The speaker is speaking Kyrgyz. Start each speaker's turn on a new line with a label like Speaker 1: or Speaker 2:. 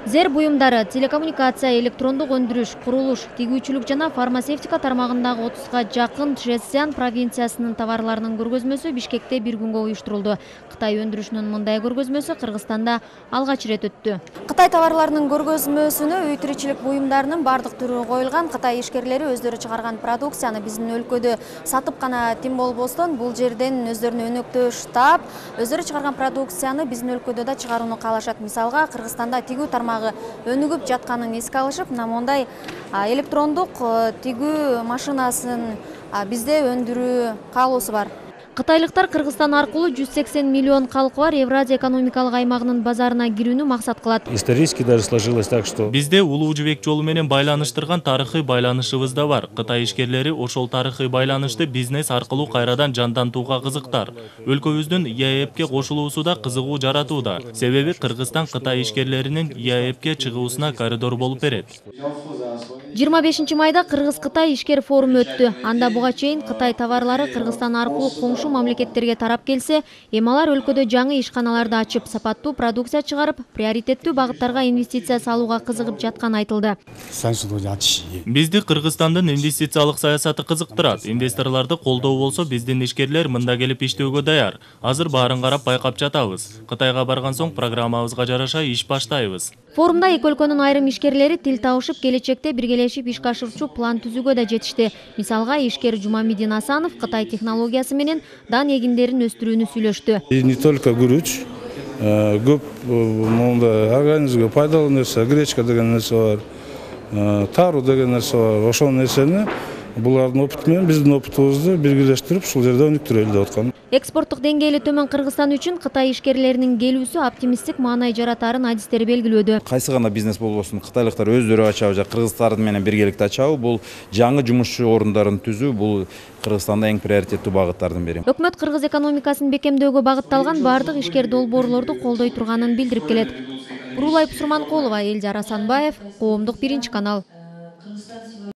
Speaker 1: Зер буюмдары, телекоммуникация, электрондук өндүрүш, курулуш, тигүүчүлүк жана фармацевтика тармагындагы 30га жакын Чжэцзян провинциясынын товарларынын көргөзмөсү Бишкекте бир күнгө уюштурулду. Кытай өндүрүшүнүн мындай көргөзмөсү Кыргызстанда алгач ирет өттү. Кытай товарларынын көргөзмөсүнө үй тиричилик буюмдарынын бардык түрү коюлган. Кытай ишкерлери өздөрү чыгарган продукцияны биздин өлкөдө сатып гана тим болбостон, бул жерден өздөрүнүн өнөктөө штаб, өздөрү чыгарган продукцияны биздин өлкөдө да чыгарууну каалашат. Мисалга, Кыргызстанда тигүү тармагы өнүгүп жатканын эске алышып, мына мондай электрондук тигүү машинасын бизде өндүрүү каалоосу бар. Кытайлыктар Кыргызстан аркылуу 180 миллион калкы бар Евразия экономикалык аймагынын базарына кирүүнү максат кылат.
Speaker 2: Исторически даже сложилось так, что
Speaker 3: бизде Улуу жибек жолу менен байланыштырган тарыхый байланышыбыз да бар. Кытай ишкерлери ошол тарыхый байланышты бизнес аркылуу кайрадан жандантууга кызыктар. Өлкөбүздүн ЕАЭПке кошулуусу да кызыгуу жаратууда. Себеби Кыргызстан Кытай ишкерлеринин ЕАЭПке чыгуусуна коридор болуп берет.
Speaker 1: 25 майда Кыргыз-Кытай ишкер форуму өттү. Анда буга чейин Кытай товарлары Кыргызстан аркылуу коңшу мамлекеттерге тарап келсе, эми алар өлкөдө жаңы ишканаларды ачып, сапаттуу продукция чыгарып, приоритеттүү багыттарга инвестиция салууга кызыгып жатканы айтылды.
Speaker 3: Бизди Кыргызстандын инвестициялык саясаты кызыктырат. Инвесторлорду колдоо болсо, биздин ишкерлер мында келип иштөөгө даяр. Азыр баарын карап байкап жатабыз. Кытайга барган соң программабызга жараша иш баштайбыз.
Speaker 1: Форумда эки өлкөнүн айрым ишкерлери тил табышып, келечекте биргелешип иш ашырчу план түзүүгө да жетишти. Мисалга, ишкер Жумамидин Асанов Кытай технологиясы менен дан эгиндерин өстүрүүнү сүйлөштү.
Speaker 4: Не только күрүч, көп монда организмге пайдалуу нерсе, гречка деген нерсе бар, тару деген нерсе бар. Ошол нерсени булардын опыты менен биздин опытыбызды биргелештирип, ушул жерде өнүктүрөлү деп аткан.
Speaker 1: Экспорттук деңгээли төмөн Кыргызстан үчүн Кытай ишкерлеринин келүүсү оптимисттик маанай жаратарын адистер белгилөөдө.
Speaker 5: Кайсы гана бизнес болбосун, кытайлыктар өздөрү ачабы же кыргыздардын менен биргеликте ачабы, бул жаңы жумушчу орундарын түзүү, бул Кыргызстанда эң приоритеттүү багыттардын бири.
Speaker 1: Өкмөт Кыргыз экономикасын бекемдөөгө багытталган бардык ишкер долбоорлорду колдой турганын билдирип келет. Бурулай Пусурманкулова, Элжар Асанбаев, Коомдук 1 канал.